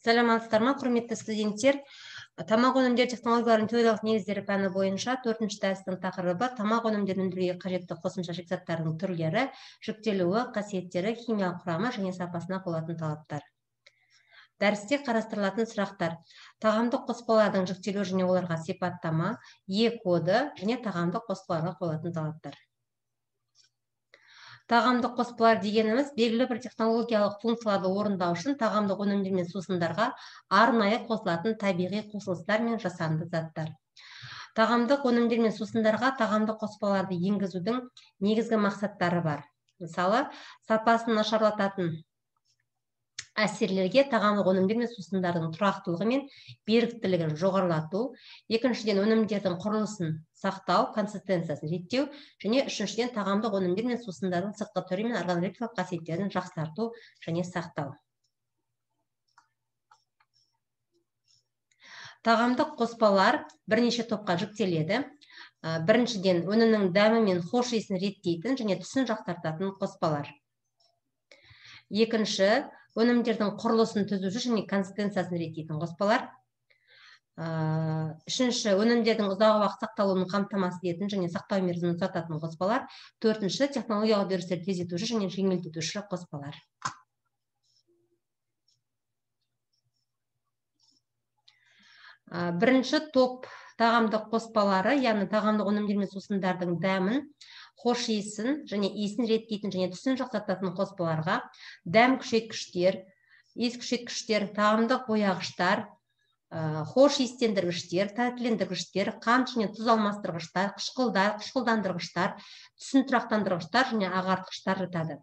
Саламатсыздар ма, құрметті студенттер? Тамақ өнімдері технологияларының теориялық негіздері пәні бойынша 4-ші дәрістің тақырыбы тамақ өнімдерін өндіруге қажетті қосымша шикізаттардың түрлері, жүктелуі, қасиеттері, химиялық құрамы және сапасына қойылатын талаптар. Дәрісте қарастырылатын сұрақтар: тағамдық қоспалардың жүктелуі және оларға сипаттама, Е коды және тағамдық қоспаларға қойылатын талаптар. Тағамдық қоспалар дегеніміз белгілі бір технологиялық функцияларды орындау үшін тағамдық өнімдер мен сусындарға арнайы қосылатын табиғи қосылыстар мен жасанды заттар. Тағамдық өнімдер мен сусындарға тағамдық қоспаларды енгізудің негізгі мақсаттары бар. Мысалы, сапасын нашарлататын әсерлерге тағамдық өнімдер мен сусындардың тұрақтылығы мен беріктілігін жоғарылату, екіншіден өнімдердің құрылысын сақтау, консистенциясын реттеу, және үшіншіден тағамдық өнімдер мен сусындардың сыртқы түрі мен органолептикалық қасиеттерін жақсарту және сақтау. Тағамдық қоспалар бірнеше топқа жіктеледі. Біріншіден, өнімнің дәмі мен хош иісін реттейтін және түсін жақсартатын қоспалар. Екінші, өнімдердің құрылысын түзуші және консистенциясын реттейтін қоспалар. Үшінші, өнімдердің ұзақ уақыт сақталуын қамтамасыз ететін және сақтау мерзімін ұзартатын қоспалар. Төртінші, технологиялық үдерістерді тездетуші және жеңілдетуші қоспалар. Бірінші топ тағамдық қоспалары, яғни тағамдық өнімдер мен сусындардың дәмін, хош иісін және иісін реттейтін және түсін жақсартатын қоспаларға дәм күшейткіштер, иіс күшейткіштер, тағамдық бояғыштар, хош иістендіргіштер, тәттілендіргіштер, қант және тұз алмастырғыштар, қышқылдар, қышқылдандырғыштар, түсін тұрақтандырғыштар және ағартқыштар жатады.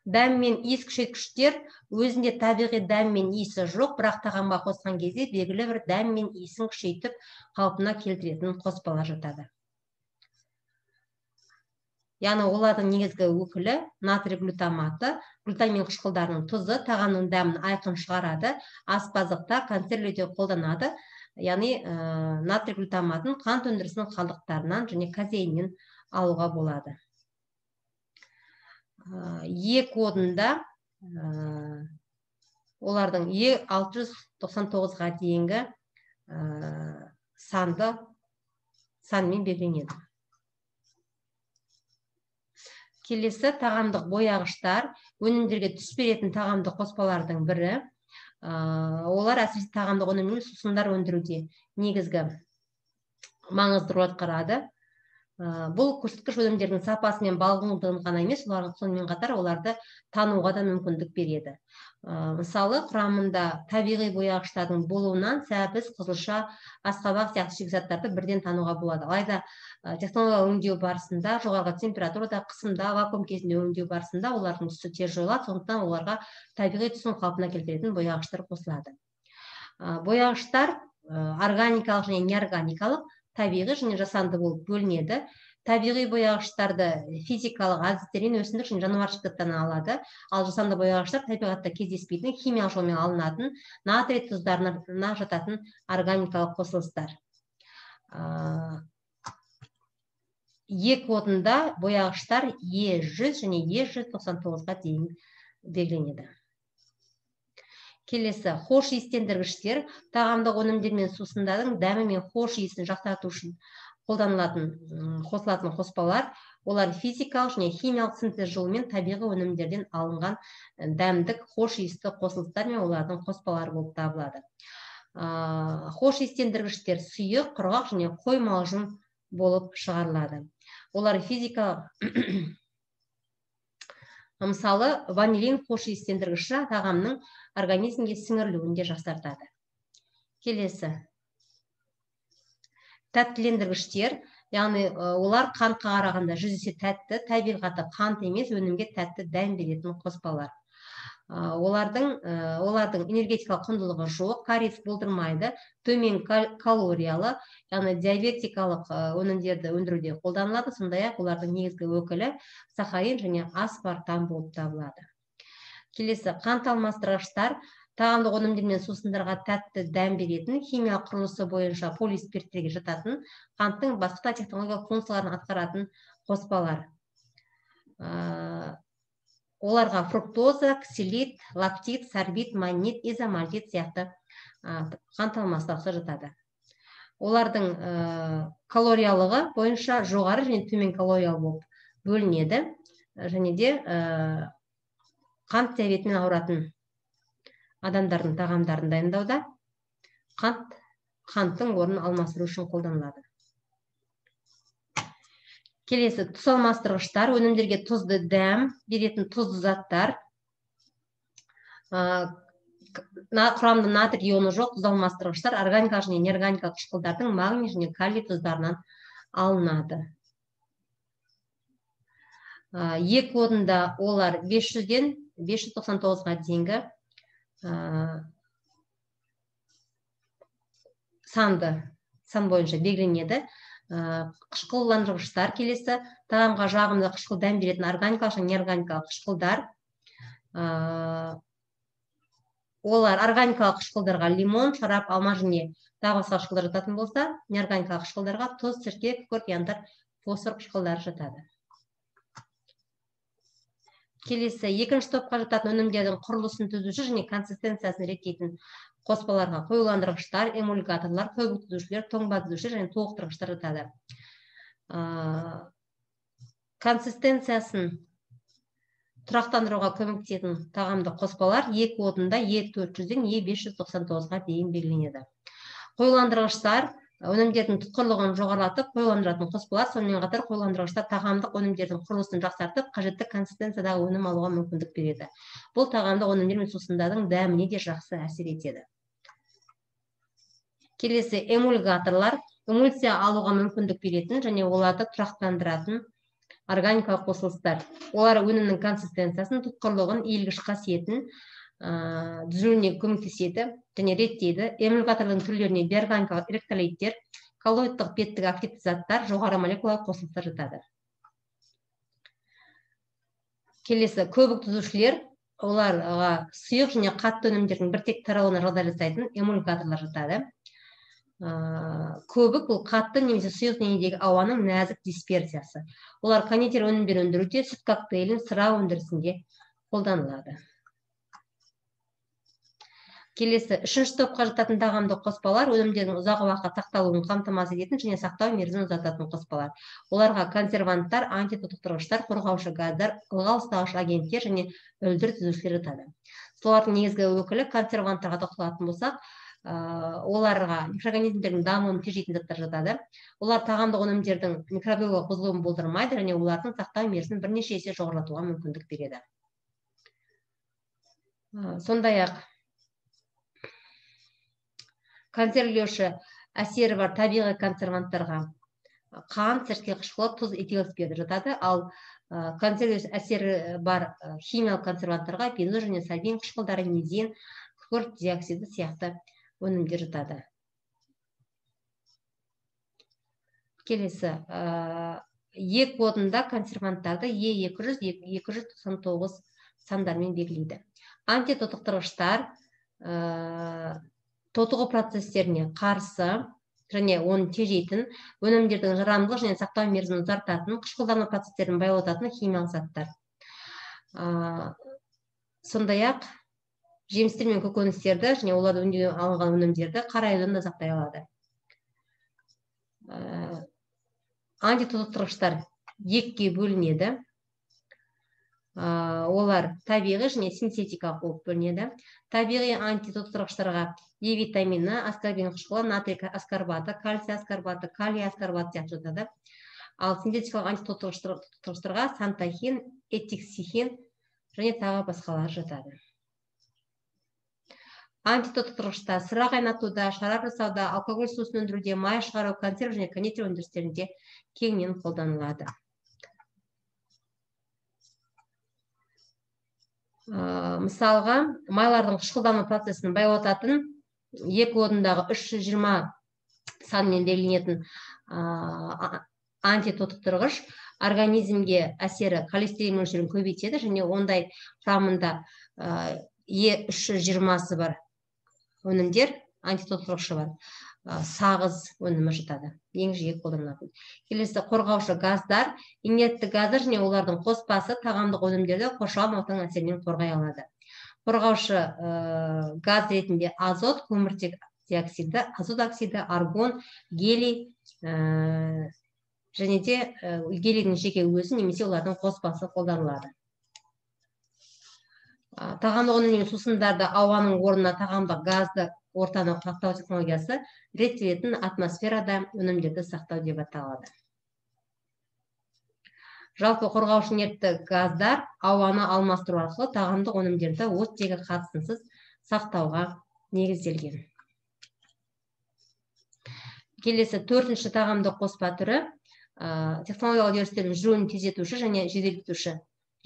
Дәм мен иіс күшейткіштер өзінде табиғи дәм мен иісі жоқ, бірақ тағамға қосқан кезде белгілі бір дәм мен иісін күшейтіп қалпына келтіретін қоспалар жатады. Яғни олардың негізгі өкілі натрий глютаматы, глутамин қышқылдарының тұзы тағамның дәмін айқын шығарады, аспаздықта, консервілеуде қолданады. Яғни натрий глютаматын қант өндірісінің қалдықтарынан және казеиннен алуға болады. Е кодында олардың Е699-ға дейінгі санмен белгіленеді. Келесі тағамдық бояғыштар, өнімдерге түс беретін тағамдық қоспалардың бірі. Олар әсіресе тағамдық өнім мен сусындар өндіруде негізгі маңызды рөл атқарады. Бұл көрсеткіш өнімдердің сапасы мен балғындығын ғана емес, сонымен қатар оларды тануға да мүмкіндік береді. Мысалы, құрамында табиғи бояғыштардың болуынан сәбіз, қызылша, асқабақ сияқты шикізаттарды бірден тануға болады. Алайда технологиялық өңдеу барысында, жоғарғы температурада, қысымда, вакуум кезінде өңдеу барысында олардың түсі тез жойылады, сондықтан оларға табиғи түсін қалпына келтіретін бояғыштар қосылады. Бояғыштар органикалық және неорганикалық, табиғи және жасанды болып бөлінеді. Табиғи бояғыштарды физикалық әдістермен өсімдік және жануар шикізаттарынан алады, ал жасанды бояғыштар табиғатта кездеспейтін, химиялық жолмен алынатын, натрий тұздарына жататын органикалық қосылыстар. Е кодында бояғыштар Е100 және Е199-ға дейін белгіленеді. Келесі, хош иістендіргіштер тағамдық өнімдер мен сусындардың дәмі мен хош иісін жақсарту үшін қосылатын қоспалар. Олар физикалық және химиялық синтез жолымен табиғи өнімдерден алынған дәмдік хош иісті қосылыстар мен олардың қоспалары болып табылады. Хош иістендіргіштер сұйық, құрғақ және қоймалжың болып шығарылады. Олар физикалық мысалы, ванилин хош иістендіргіші тағамның организмге сіңірілуін де жақсартады. Келесі, тәттілендіргіштер, яғни олар қантқа қарағанда 100 есе тәтті, табиғаты қант емес, өнімге тәтті дәм беретін қоспалар. Олардың энергетикалық құндылығы жоқ, кариес болдырмайды, төмен калориялы, яғни диабетикалық өнімдерді өндіруде қолданылады, сондай-ақ олардың негізгі өкілі сахарин және аспартам болып табылады. Келесі, қант алмастырғыштар тағамдық өнімдер мен сусындарға тәтті дәм беретін, химиялық құрылысы бойынша полиспирттерге жататын, қанттың басқа технологиялық функцияларын атқаратын қоспалар. оларға фруктоза, ксилит, лактит, сорбит, маннит, изомальдит сияқты қант алмастырғыштар жатады. Олардың калориялығы бойынша жоғары және төмен калориялы болып бөлінеді, және де қант диабетімен ауыратын адамдардың тағамдарын дайындауда қанттың орнын алмастыру үшін қолданылады. Келесі, тұз алмастырғыштар, өнімдерге тұзды дәм беретін тұзды заттар. Құрамында натрий ионы жоқ тұз алмастырғыштар органикалық және неорганикалық қышқылдардың магний және калий тұздарынан алынады. Ек орында олар 500-ден 599-ға дейінгі сан бойынша белгіленеді. Қышқылдандырғыштар келесі, тағамға жағымды қышқыл дәм беретін органикалық және неорганикалық қышқылдар. Олар органикалық қышқылдарға лимон, шарап, алма және тағы басқа қышқылдар жататын болса, неорганикалық қышқылдарға тұз, сірке, күкірт, янтар, фосфор қышқылдары жатады. Келесі, екінші топқа жататын өнімдердің құрылысын түзуші және консистенциясын реттейтін қоспаларға қоюландырғыштар, эмульгаторлар, көбік түзушілер, тоңба түзушілер және толықтырғыштар жатады. Консистенциясын тұрақтандыруға көмектесетін тағамдық қоспалар ек отында Е400-ден Е599-ға дейін белгіленеді. Қоюландырғыштар өнімдердің тұтқырлығын жоғарылатып, қоюландыратын қоспалар, сонымен қатар қоюландырғыштар тағамдық өнімдердің құрылысын жақсартып, қажетті консистенциядағы өнім алуға мүмкіндік береді. Бұл тағамдық өнімдер мен сусындардың дәміне де жақсы әсер етеді. Келесі, эмульгаторлар эмульсия алуға мүмкіндік беретін және оларды тұрақтандыратын органикалық қосылыстар. Олар өнімнің консистенциясын, тұтқырлығын, иілгіш қасиетін түзілуіне көмектеседі және реттейді. Эмульгаторлардың түрлеріне биорганикалық электролиттер, коллоидтық беттік активті заттар, жоғары молекулалық қосылыстар жатады. Келесі, көбік түзушілер, оларға сұйық және қатты өнімдердің біртек тарауына жағдай жасайтын эмульгаторлар жатады. Көбік бұл қатты немесе сұйық денедегі ауаның нәзік дисперсиясы. Олар кондитер өнімдер өндіруде, сүт коктейлін, сыра өндірісінде қолданылады. Келесі, үшінші топқа жататын тағамдық қоспалар өнімдердің ұзақ уақыт сақталуын қамтамасыз ететін және сақтау мерзімін ұзартатын қоспалар. Оларға консерванттар, антитотықтырғыштар, қорғаушы газдар, ылғал ұстағыш агенттер және өлдір түзушілер жатады. Солардың негізгі өкілі консерванттарға тоқталатын болсақ, оларға микроорганизмдердің дамуын тежейтін заттар жатады. Олар тағамдық өнімдердің микробиологиялық бұзылуын болдырмайды және олардың сақтау мерзімін бірнеше есе жоғарылатуға мүмкіндік береді. Сондай-ақ консервілеуші әсері бар табиғи консерванттарға қант, сірке қышқылы, тұз, этил спирті жатады. Ал консервілеуші әсері бар химиялық консерванттарға бензол және сальвин қышқылдары, мезин, күкірт диоксиді сияқты өнімдер жатады. Келесі, ек кодында консерванттарды Е200, Е299 сандармен белгілейді. Антитотықтырғыштар тотығу процестеріне қарсы және оны тежейтін, өнімдердің жарамдылық және сақтау мерзімін ұзартатын, қышқылдану процестерін баяулататын химиялық заттар. Сондай-ақ жемістер мен көкөністерді және оларды өңдеуден алынған өнімдерді қара айдында сақтай алады. Антитотықтырғыштар екіге бөлінеді. Олар табиғи және синтетикалық болып бөлінеді. Табиғи антитотықтырғыштарға Е витамині, аскорбин қышқылы, натрий аскорбаты, кальций аскорбаты, калий аскорбаты сияқты жатады. Ал синтетикалық антитотықтырғыштарға сантахин, этиксихин және тағы басқалар жатады. Антитотықтырғыштар сыра қайнатуда, шарап жасауда, алкоголь сусын өндіруде, май шығару, консерв және кондитер өндірістерінде кеңінен қолданылады. Мысалға, майлардың қышқылдану процесін баяулататын ек орындағы 320 санмен белгіленетін антитотықтырғыш организмге әсері холестерин мөлшерін көбейтеді және ондай құрамында Е320 бар өнімдер, антитотықтырғышы бар. сағыз өнімі жатады, ең жиі қолданылатын. Келесі қорғаушы газдар, инертті газдар және олардың қоспасы тағамдық өнімдерді қоршаған ортаның әсерінен қорғай алады. Қорғаушы газ ретінде азот, көміртек диоксиді, азот оксиді, аргон, гелий және де гелийдің жеке өзі немесе олардың қоспасы қолданылады. Тағамдық өнімдер сусындарды ауаның орнына тағамдық газды ортаны сақтау технологиясы реттелетін атмосферада өнімдерді сақтау деп аталады. Жалпы қорғаушы инертті газдар ауаны алмастыру арқылы тағамдық өнімдерді оттегі қатысынсыз сақтауға негізделген. Келесі 4-ші тағамдық қоспа түрі технологиялық үдерістердің жүруін тездетуші және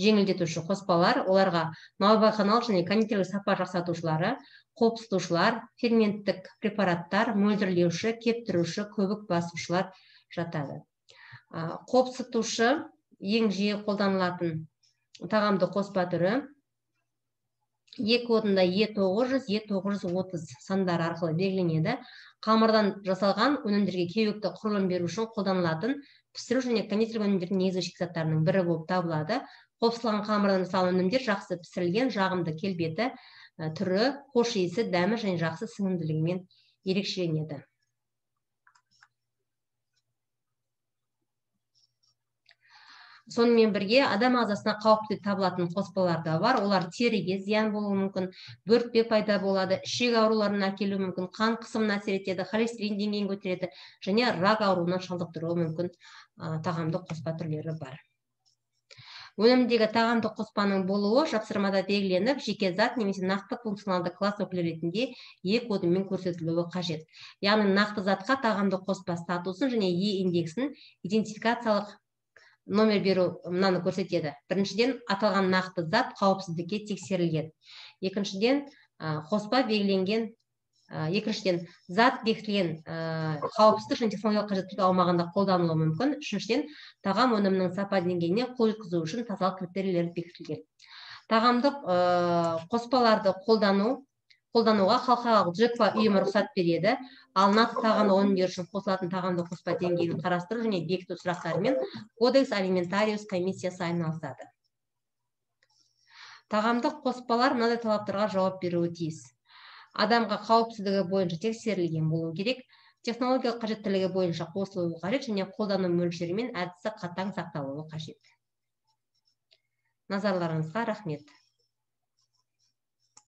жеңілдетуші қоспалар. Оларға наубайханалық және кондитерлік сапа жақсартушылары, қопсытушылар, ферменттік препараттар, мөлдірлеуші, кептіруші, көбік басушылар жатады. Қопсытушы ең жиі қолданылатын тағамдық қоспа түрі E кодында E900, E930 сандары арқылы белгіленеді. Қамырдан жасалған өнімдерге кеуекті құрылым беру үшін қолданылатын пісіру және кондитерлік өнімдердің негізгі шикізаттарының бірі болып табылады. Қопсылған қамырдан жасалған өнімдер жақсы пісірілген, жағымды келбеті, түрі, хош иісі, дәмі және жақсы сіңімділігімен ерекшеленеді. Сонымен бірге адам ағзасына қауіпті табылатын қоспалар да бар. Олар теріге зиян болуы мүмкін, бөртпе пайда болады, ішек ауруларын әкелуі мүмкін, қан қысымына әсер етеді, холестерин деңгейін көтереді және рак ауруына шалдықтыруы мүмкін тағамдық қоспа түрлері бар. Өнімдегі тағамдық қоспаның болуы жапсырмада белгіленіп, жеке зат немесе нақты функционалды класс өкілі ретінде E кодымен көрсетілуі қажет. Яғни нақты затқа тағамдық қоспа статусын және E индексін идентификациялық номер беру мынаны көрсетеді. Біріншіден, аталған нақты зат қауіпсіздікке тексерілген. Екіншіден, қоспа белгіленген, екіншіден, зат бекітілген қауіпсіздік және технологиялық қажеттілік аумағында қолданылуы мүмкін. Үшіншіден, тағам өнімінің сапа деңгейіне қол жеткізу үшін тазалық критерийлері бекітілген. Тағамдық қоспаларды қолдануға халықаралық JECVA ұйымы рұқсат береді. Ал нақты тағамдық өнімдер үшін қосылатын тағамдық қоспа деңгейін қарастыру және бекіту сұрақтарымен Кодекс Алиментариус комиссиясы айналысады. Тағамдық қоспалар мынадай талаптарға жауап беруі тиіс. Адамға қауіпсіздігі бойынша тексерілген болуы керек, технологиялық қажеттілігі бойынша қосылуы қажет және қолдану мөлшері мен әдісі қатаң сақталуы қажет. Назарларыңызға рахмет.